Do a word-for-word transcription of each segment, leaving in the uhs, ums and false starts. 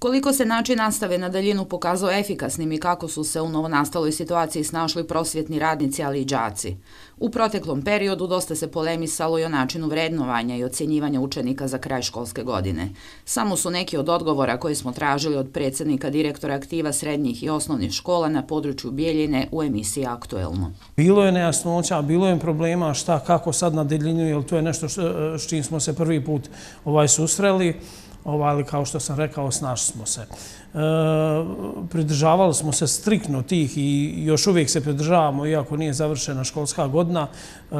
Koliko se način nastave na daljinu pokazao efikasnim i kako su se u novonastaloj situaciji snašli prosvjetni radnici, ali i đaci. U proteklom periodu dosta se polemisalo i o načinu vrednovanja i ocjenjivanja učenika za kraj školske godine. Samo su neki od odgovora koje smo tražili od predsjednika direktora aktiva srednjih i osnovnih škola na području Bijeljine u emisiji Aktuelno. Bilo je nejasnoća, bilo je problema šta, kako sad na daljinu, jer to je nešto s čim smo se prvi put ovaj susreli. Ali kao što sam rekao, snašli smo se. E, pridržavali smo se striktno tih i još uvijek se pridržavamo, iako nije završena školska godina, e,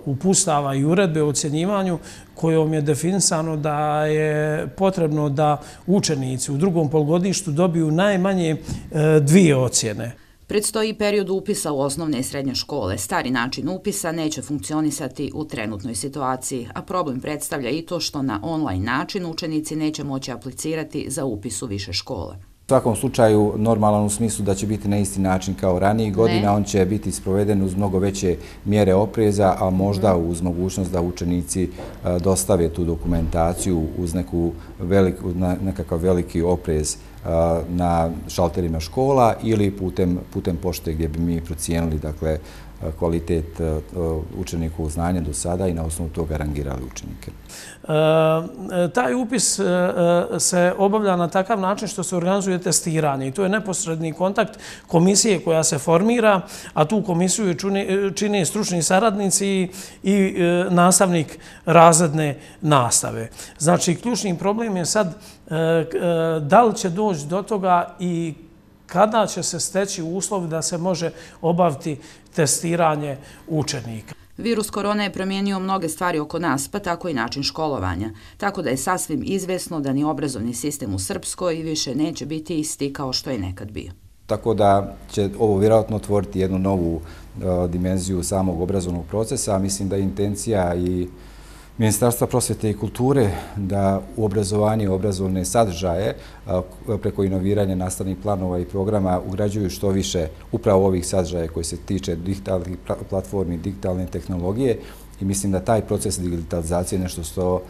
uputstava i uredbe o ocjenjivanju kojom je definisano da je potrebno da učenici u drugom polugodištu dobiju najmanje e, dvije ocjene. Predstoji period upisa u osnovne i srednje škole. Stari način upisa neće funkcionisati u trenutnoj situaciji, a problem predstavlja i to što na online način učenici neće moći aplicirati za upis u više škole. U svakom slučaju normalan u smislu da će biti na isti način kao ranijih godina, on će biti sproveden uz mnogo veće mjere opreza, a možda uz mogućnost da učenici dostave tu dokumentaciju uz neku veliku, nekakav veliki oprez na šalterima škola ili putem, putem pošte gdje bi mi procijenili dakle, kvalitet učenikovog znanja do sada i na osnovu toga rangirali učenike. E, taj upis e, se obavlja na takav način što se organizuje testiranje i to je neposredni kontakt komisije koja se formira, a tu komisiju čine, čine stručni saradnici i, i e, nastavnik razredne nastave. Znači, ključni problem je sad e, e, da li će doći do toga i kada će se steći uslov da se može obaviti testiranje učenika. Virus korona je promijenio mnoge stvari oko nas, pa tako i način školovanja. Tako da je sasvim izvjesno da ni obrazovni sistem u Srpskoj više neće biti isti kao što je nekad bio. Tako da će ovo vjerojatno otvoriti jednu novu uh, dimenziju samog obrazovnog procesa. Mislim da je intencija i Ministarstva prosvjete i kulture da u obrazovanje i obrazovne sadržaje preko inoviranja nastavnih planova i programa ugrađuju što više upravo ovih sadržaja koji se tiče digitalnih platformi, digitalne tehnologije i mislim da taj proces digitalizacije je nešto što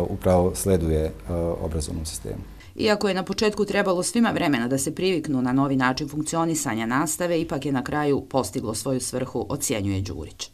upravo sleduje obrazovnom sistemu. Iako je na početku trebalo svima vremena da se priviknu na novi način funkcionisanja nastave, ipak je na kraju postiglo svoju svrhu, ocjenjuje Đurić.